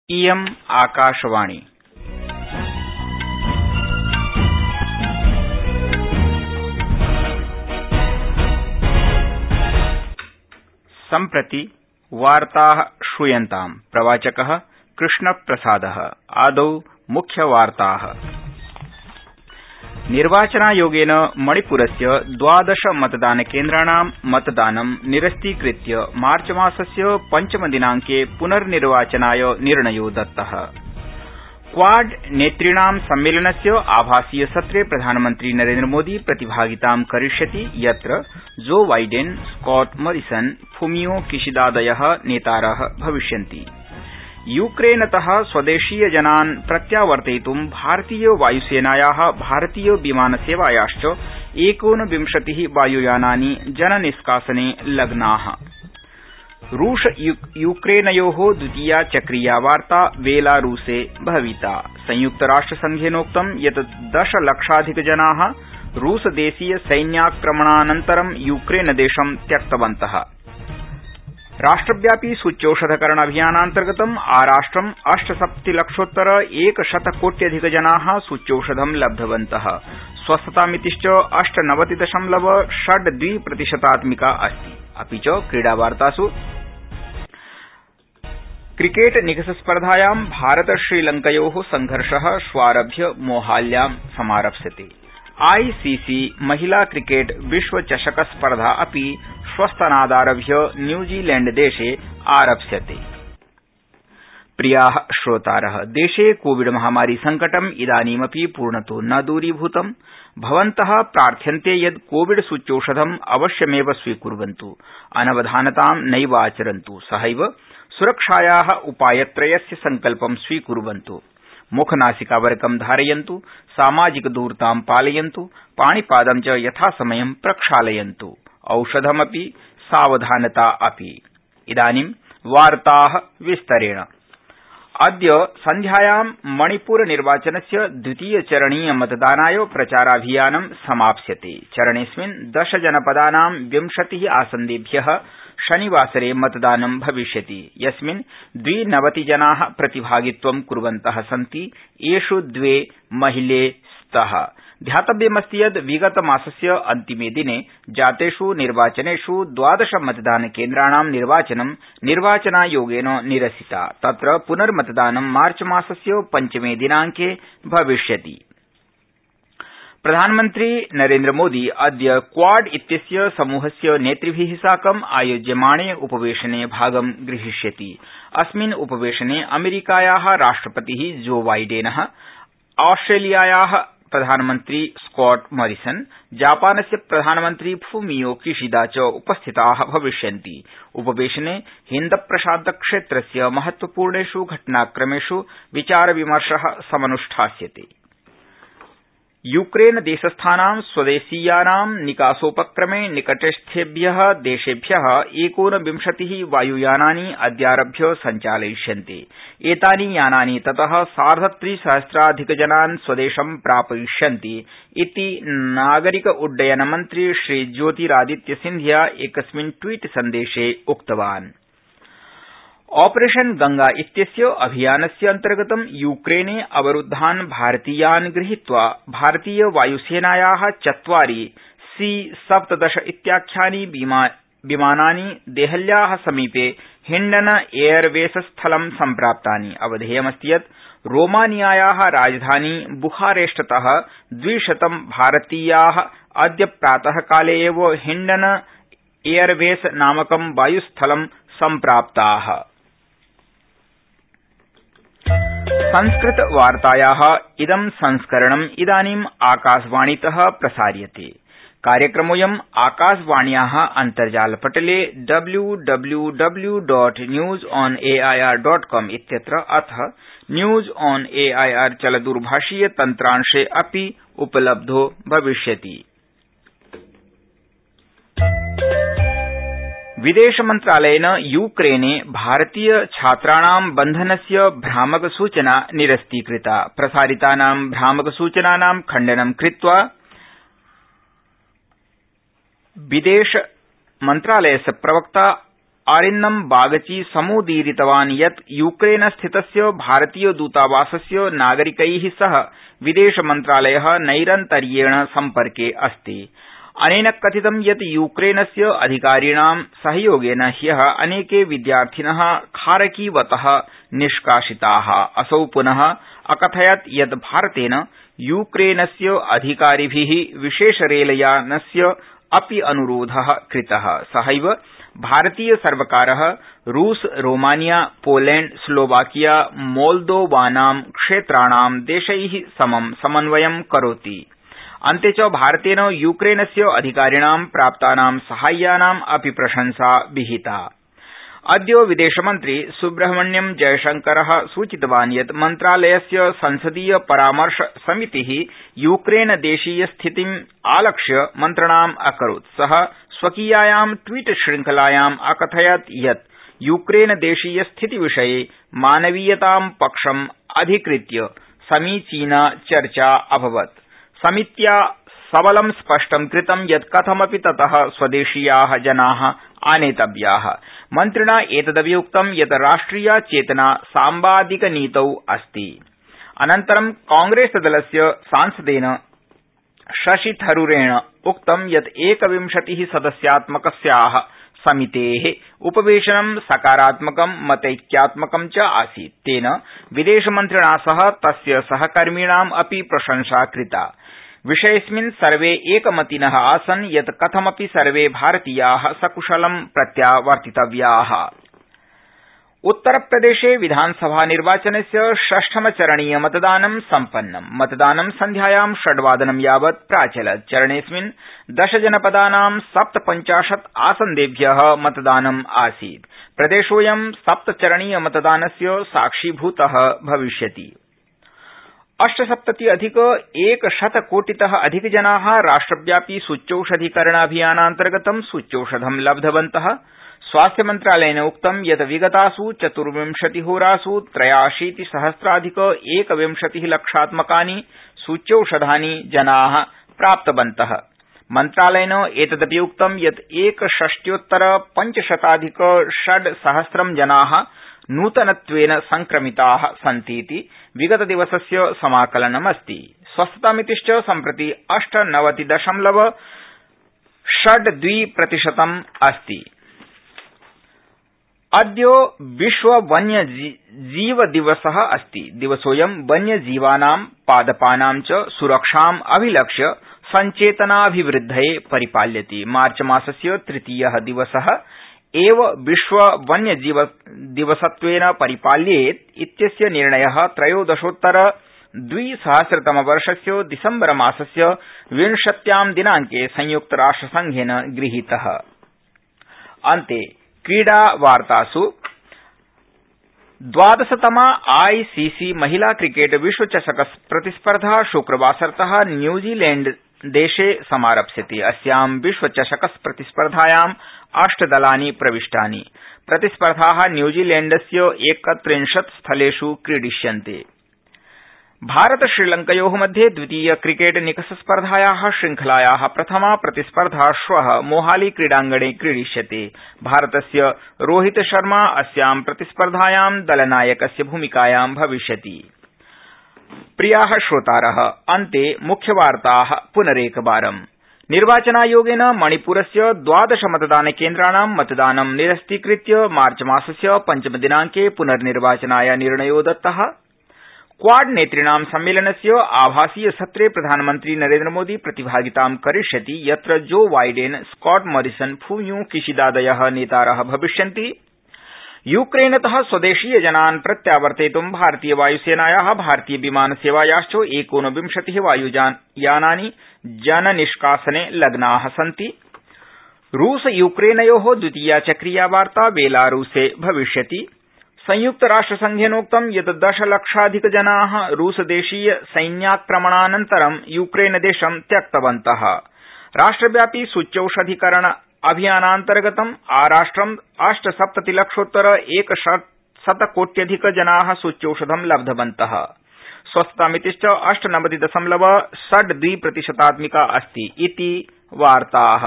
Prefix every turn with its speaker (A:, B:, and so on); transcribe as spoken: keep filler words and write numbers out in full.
A: इयम् आकाशवाणी। सम्प्रति वार्ताः श्रूयन्ताम्। प्रवाचकः कृष्णप्रसादः। आदौ मुख्यवार्ताः। निर्वाचनायोगेन मणिपुरस्य द्वादश मतदानकेन्द्राणां मतदानं निरस्तीकृत्य मार्चमासस्य पञ्चमदिनांके पुनर्निर्वाचनाय निर्णयो दत्तः। क्वाड नेतृणां सम्मेलनस्य आभासीय सत्रे प्रधानमन्त्री नरेन्द्रमोदी प्रतिभागितां करिष्यति, यत्र Joe Biden, Scott Morrison, Fumio किशिदादयः नेतारः भविष्यन्ति। यूक्रेनत स्वदेशीयजनान् प्रत्यावर्तयितुं भारतीय वायुसेनायाः भारतीय विमानसेवायाश्च एकोनविंशतिः वायुयानानि जननिष्कासने लग्नाः। रूस यूक्रेनयोः द्वितीया चक्रीया वार्ता बेलारूसे भविता। संयुक्तराष्ट्रसंघेनोक्तं यत् दशलक्षाधिकजनाः रूसदेशीय सैन्याक्रमणानन्तरं यूक्रेनदेशं त्यक्तवन्तः। राष्ट्रव्यापी सूच्यौषधकरण अभियानान्तर्गतं आराष्ट्रं अष्टसप्ततिलक्षोत्तर एकशतकोट्यधिकजनाः सूच्यौषधं लब्धवन्तः। स्वस्थतामितिश्च अष्टनवति दशमलव षड् द्वि प्रतिशतात्मिका अस्ति। अपि च क्रीडावार्तासु क्रिकेट निकषस्पर्धायां भारत श्रीलंकयोः संघर्षः श्वारभ्य मोहाल्यां समारप्स्यते। आईसीसी महिला क्रिकेट विश्वचषक स्पर्धा अपि श्वस्तनादारभ्य न्यूजीलैण्डदेशे आरप्स्यते। प्रियाः श्रोतारः, देशे कोविड महामारी संकटम् इदानीमपि पूर्णतो न दूरीभूतम्। भवन्तः प्रार्थ्यन्ते यत् कोविड सूच्यौषधम् अवश्यमेव स्वीकुर्वन्तु, अनवधानतां नैवाचरन्तु, सहैव सुरक्षायाः उपायत्रयस्य संकल्पं स्वीकुर्वन्तु। मुखनासिकावरकं धारयन्तु, सामाजिकदूरतां पालयन्तु, पाणिपादं च यथासमयं प्रक्षालयन्तु, औषधमपि सावधानता अपि। इदानीं वार्ताः विस्तरेण। अद्य सन्ध्यायां मणिपुर निर्वाचनस्य द्वितीयचरणीय मतदानाय प्रचाराभियानं समाप्स्यते। चरणेऽस्मिन् दश जनपदानां विंशतिः आसन्देभ्यः शनिवासरे मतदानं भविष्यति, यस्मिन् द्विनवतिजनाः प्रतिभागित्वं कुर्वन्तः सन्ति, येष् द्वे महिले स्तः। ध्यातव्यमस्ति यत् विगतमासस्य अन्तिमे दिने जातेष् निर्वाचनेष् द्वादश मतदानकेन्द्राणां निर्वाचनं निर्वाचनायोगेन निरसिता। तत्र पुनर्मतदानं मार्चमासस्य पञ्चमे दिनांके भविष्यति। प्रधानमन्त्री नरेन्द्रमोदी अद्य क्वाड इत्यस्य समूहस्य नेतृभिः साकं आयोज्यमाणे उपवेशने भागं ग्रहीष्यति। अस्मिन् उपवेशने अमेरिकायाः राष्ट्रपतिः जो बाइडेनः, ऑस्ट्रेलियायाः प्रधानमन्त्री स्कॉट मॉरिसन, जापानस्य प्रधानमन्त्री फुमियो किशिदा च उपस्थिताः भविष्यन्ति। उपवेशने हिन्दप्रशान्तक्षेत्रस्य महत्वपूर्णेष् घटनाक्रमेष् विचारविमर्शः समनुष्ठास्यते। यूक्रेनदेशस्थानां स्वदेशीयानां निकासोपक्रमे निकटस्थेभ्यः देशेभ्यः एकोनविंशतिः वायुयानानि अद्यारभ्य सञ्चालयिष्यन्ते। एतानि यानानि ततः सार्धत्रिसहस्राधिकजनान् स्वदेशं प्रापयिष्यन्ति इति नागरिक उड्डयन मन्त्री श्री ज्योतिरादित्य सिन्धिया एकस्मिन् ट्वीट सन्देशे उक्तवान्। ऑपरेशन गंगा इत्यस्य अभियानस्य अन्तर्गतं यूक्रेने अवरुद्धान् भारतीयान् गृहीत्वा भारतीय वायुसेनायाः चत्वारि सी सप्तदश इत्याख्यानि विमानानि देहल्याः समीपे हिण्डन एयरवेस स्थलं सम्प्राप्तानि। अवधेयमस्ति यत् रोमानियायाः राजधानी बुखारेस्टतः द्विशतं भारतीयाः अद्य प्रातःकाले एव हिण्डन एयरवेस नामकं वायुस्थलं सम्प्राप्ताः। संस्कृतवार्तायाः इदं संस्करणम् इदानीम् आकाशवाणीतः प्रसार्यते। कार्यक्रमोऽयम् आकाशवाण्याः अन्तर्जालपटले W W W dot news on A I R dot com इत्यत्र अथ न्यूज ऑन एआईआर चलदूरभाषीय तन्त्रांशे अपि उपलब्धो भविष्यति। विदेशमन्त्रालयेन यूक्रेने भारतीय छात्राणां बन्धनस्य भ्रामक सूचना निरस्तीकृता। प्रसारितानां भ्रामक सूचनानां खण्डनं कृत्वा विदेश मन्त्रालयस्य प्रवक्ता आरिन्नम बागची समुदीरितवान् यत् यूक्रेन स्थितस्य भारतीय दूतावासस्य नागरिकै सह विदेश मन्त्रालय नैरन्तर्येण सम्पर्के अस्ति। अनेन कथितं यत् यूक्रेनस्य अधिकारिणां सहयोगेन ह्यः अनेके विद्यार्थिन खारकीवत निष्कासिता। असौ पुनः अकथयत् यत् भारतेन यूक्रेनस्य अधिकारिभि विशेषरेलयानस्य अपि अनुरोध कृत। सहैव भारतीय सर्वकारः रूस, रोमानिया, पोलैंड, स्लोवाकिया, मोल्दोवानां क्षेत्राणां देशै समं समन्वयं करोति। अन्ते च भारतेन यूक्रेनस्य अधिकारिणां प्राप्तानां साहाय्यानां अपि प्रशंसा विहिता। अद्य विदेशमन्त्री सुब्रह्मण्यम जयशंकरः सूचितवान् यत् मन्त्रालयस्य संसदीय परामर्श समितिः यूक्रेनदेशीय स्थितिम् आलक्ष्य मन्त्रणाम् अकरोत्। सः स्वकीयायां ट्वीट श्रृंखलायाम् अकथयत् यत् यूक्रेनदेशीय स्थितिविषये मानवीयतां पक्षम् अधिकृत्य समीचीना चर्चा अभवत्। समित्या सबलं स्पष्टं कृतं यत् कथमपि ततः स्वदेशीयाः जनाः आनेतव्याः। मन्त्रिणा एतदपि उक्तं यत् राष्ट्रिया चेतना साम्बादिकनीतौ अस्ति। अनन्तरं कांग्रेसदलस्य सांसदेन शशि थरूरेण उक्तं यत् एकविंशतिः सदस्यात्मकस्याः समितेः उपवेशनं सकारात्मकं मतैक्यात्मकं च आसीत्। तेन विदेशमन्त्रिणा सह तस्य सहकर्मिणाम् अपि प्रशंसा कृता। विषयेऽस्मिन् सर्वे एकमतिनः आसन् यत् कथमपि सर्वे भारतीयाः सकुशलं प्रत्यावर्तितव्याः। उत्तरप्रदेशे विधानसभानिर्वाचनस्य षष्ठमचरणीय मतदानं सम्पन्नम्। मतदानं सन्ध्यायां षड्वादनं यावत् प्राचलत्। चरणेऽस्मिन् दशजनपदानां सप्तपञ्चाशत् आसन्देभ्यः मतदानम् आसीत्। प्रदेशोऽयं सप्तचरणीय मतदानस्य साक्षीभूतः भविष्यति। अष्टसप्तति अधिक एकशतकोटितः अधिकजनाः राष्ट्रव्यापि सूच्यौषधीकरणाभियानान्तर्गतं सूच्यौषधं लब्धवन्तः। स्वास्थ्यमन्त्रालयेन उक्तं यत् विगतासु चतुर्विंशतिहोरासु त्रयाशीतिसहस्राधिक एकविंशतिः लक्षात्मकानि सूच्यौषधानि जनाः प्राप्तवन्तः। मन्त्रालयेन एतदपि उक्तं यत् एकषष्ट्योत्तर पञ्चशताधिक षड्सहस्रं जनाः नूतनत्वेन संक्रमिताः सन्तीति विगतदिवसस्य समाकलनमस्ति। स्वस्थतामितिश्च सम्प्रति अष्टनवति दशमलव षड् द्वि प्रतिशतम् अस्ति। अद्य विश्व वन्यजीव दिवसः अस्ति। दिवसोऽयं वन्यजीवानां पादपानां च सुरक्षाम् अभिलक्ष्य सञ्चेतनाभिवृद्धये परिपाल्यते। मार्चमासस्य तृतीयः दिवसः एव विश्व वन्यजीव दिवसत्वेन परिपाल्येत् इत्यस्य निर्णयः त्रयोदशोत्तर द्विसहस्रतमवर्षस्य दिसम्बरमासस्य विंशत्यां दिनांके संयुक्तराष्ट्रसंघेन गृहीतः। अन्ते क्रीडावार्तासु द्वादशतमा आईसीसी महिला क्रिकेट विश्वचषक प्रतिस्पर्धा शुक्रवासरतः न्यूजीलैण्डदेशे समारप्स्यते। अस्यां विश्वचषक प्रतिस्पर्धायाम् अष्टदलानि प्रविष्टानि। प्रतिस्पर्धाः न्यूजीलैण्डस्य एकत्रिंशत् स्थलेषु क्रीडिष्यन्ते। भारत श्रीलंकयोः मध्ये द्वितीय क्रिकेट निकषस्पर्धायाः श्रृंखलायाः प्रथमा प्रतिस्पर्धा श्वः मोहाली क्रीडांगणे क्रीडिष्यते। भारतस्य रोहित शर्मा अस्यां प्रतिस्पर्धायां दलनायकस्य भूमिकायां भविष्यति। प्रियाः श्रोतारः, अन्ते मुख्यवार्ताः पुनरेकवारम्। निर्वाचनायोगेन मणिपुरस्य द्वादश मतदानकेन्द्राणां मतदानं निरस्तीकृत्य मार्चमासस्य पञ्चमदिनांके पुनर्निर्वाचनाय निर्णयो दत्तः। क्वाड नेतृणां सम्मेलनस्य आभासीय सत्रे प्रधानमन्त्री नरेन्द्रमोदी प्रतिभागितां करिष्यति, यत्र Joe Biden, Scott Morrison, Fumio किशिदादयः नेतारः भविष्यन्ति। यूक्रेनतः स्वदेशीयजनान् प्रत्यावर्तयितुं भारतीय वायुसेनायाः भारतीय विमानसेवायाश्च एकोनविंशतिः वायुयानानि जननिष्कासने लग्नाः सन्ति। रूस यूक्रेनयोः द्वितीया चक्रीया वार्ता बेलारूसे भविष्यति। संयुक्तराष्ट्रसंघेनोक्तं यत् दशलक्षाधिकजनाः रूसदेशीय सैन्याक्रमणानन्तरं यूक्रेनदेशं त्यक्तवन्तः। राष्ट्रव्यापी सूच्यौषधीकरण अभियानान्तर्गतं आराष्ट्रं अष्टसप्ततिलक्षोत्तर एकशतकोट्यधिक जनाः सूच्यौषधं लब्धवन्तः। स्वस्थतामितिश्च अष्टनवति दशमलव षड् द्वि प्रतिशतात्मिका अस्ति। इति वार्ताः।